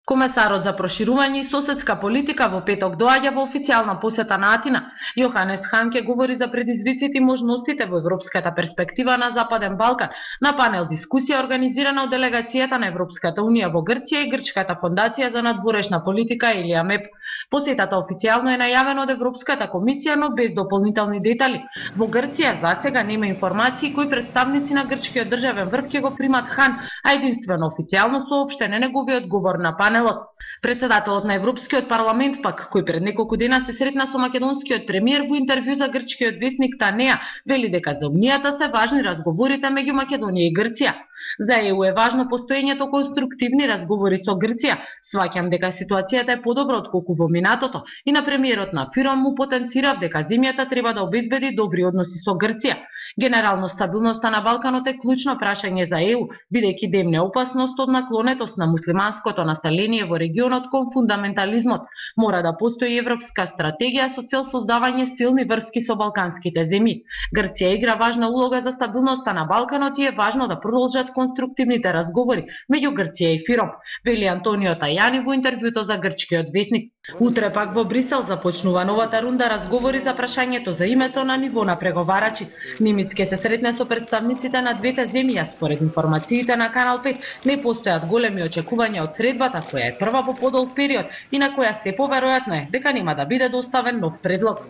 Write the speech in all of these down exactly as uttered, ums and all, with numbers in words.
Комесарот за проширување и соседска политика во петок доаѓа во официјална посета на Атина. Јоханес Хан ќе говори за предизвиците и можностите во европската перспектива на Западен Балкан на панел дискусија организирана од делегацијата на Европската унија во Грција и Грчката фондација за надворешна политика или АМЕП. Посетата официјално е најавена од Европската комисија, но без дополнителни детали. Во Грција засега нема информации кои представници на грчкиот државен врв ќе го примат Хан, а единствено официјално соопштен е неговиот говор на панелот. Председателот на Европскиот парламент пак, кој пред неколку дена се сретна со македонскиот премиер, во интервју за грчкиот весник Танеа, вели дека за Унијата се важни разговорите меѓу Македонија и Грција. За ЕУ е важно постоењето конструктивни разговори со Грција. Сваќам дека ситуацијата е подобра отколку во минатото и на премиерот на Фиром му потенцирав дека земјата треба да обезбеди добри односи со Грција. Генерално стабилноста на Балканот е клучно прашање за ЕУ, бидејќи демне опасност од наклонетост на муслиманското население во регионот кон фундаментализмот. Мора да постои европска стратегија со цел создавање силни врски со балканските земји. Грција игра важна улога за стабилноста на Балканот и е важно да продолжат конструктивните разговори меѓу Грција и Фиром, вели Антонио Тајани во интервјуто за грчкиот весник. Утре пак во Брисел започнува новата рунда разговори за прашањето за името на ниво на преговарачи. Нимиц ќе се сретне со представниците на двете земји, а според информациите на Канал пет не постојат големи очекувања од средбата, која е прва во подолг период и на која се поверојатно е дека нема да биде доставен нов предлог.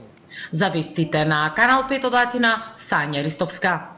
За вестите на Канал пет од Атина, Сања Ристовска.